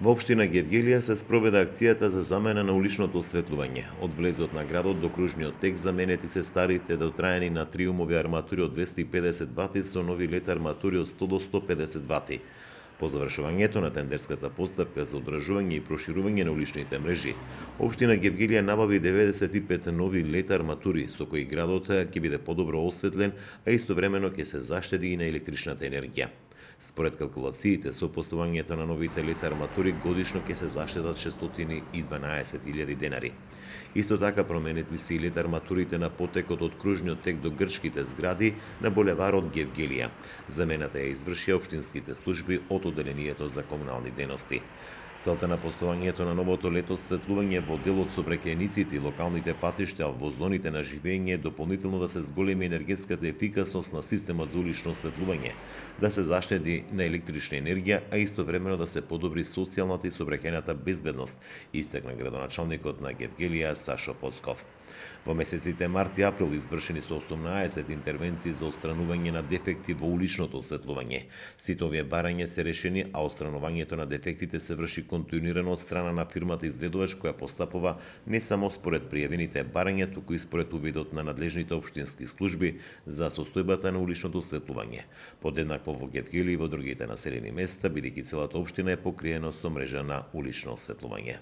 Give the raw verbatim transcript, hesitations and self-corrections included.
Во општина Гевгелија се спроведе акцијата за замена на уличното осветлување. Од влезот на градот до кружниот тек заменети се старите дотраени на триумови арматури од двесте и педесет вати со нови лед арматури од сто до сто и педесет вати. По завршувањето на тендерската постапка за одржување и проширување на уличните мрежи, општина Гевгелија набави деветдесет и пет нови лед арматури со кои градот ќе биде подобро осветлен, а истовремено ќе се заштеди и на електричната енергија. Според калкулациите, со поставувањето на новите лед арматури годишно ќе се заштедат шестстотини и дванаесет илјади денари. Исто така променети се и лед арматурите на потекот од кружниот тек до грчките згради на булеварот Гевгелија. Замената ја извршија општинските служби од Оделението за комунални дејности. Целта на поставувањето на новото лед осветлување во делот сообраќајниците и локалните патишта во зоните на живење е дополнително да се зголеми енергетската ефикасност на системот за улично осветлување, да се заштеди на електрична енергија, а истовремено да се подобри социјалната и сообраќајната безбедност, истакна градоначалникот на Гевгелија Сашо Поцков. Во месеците март и април извршени се осумнаесет интервенции за отстранување на дефекти во уличното осветлување. Сите овие барања се решени, а отстранувањето на дефектите се врши континуирано од страна на фирмата изведувач која постапува не само според пријавените барања, туку и според увидот на надлежните општински служби за состојбата на уличното осветлување. Подеднакво во Гевгелија и во другите населени места, бидејќи целата општина е покриена со мрежа на улично осветлување.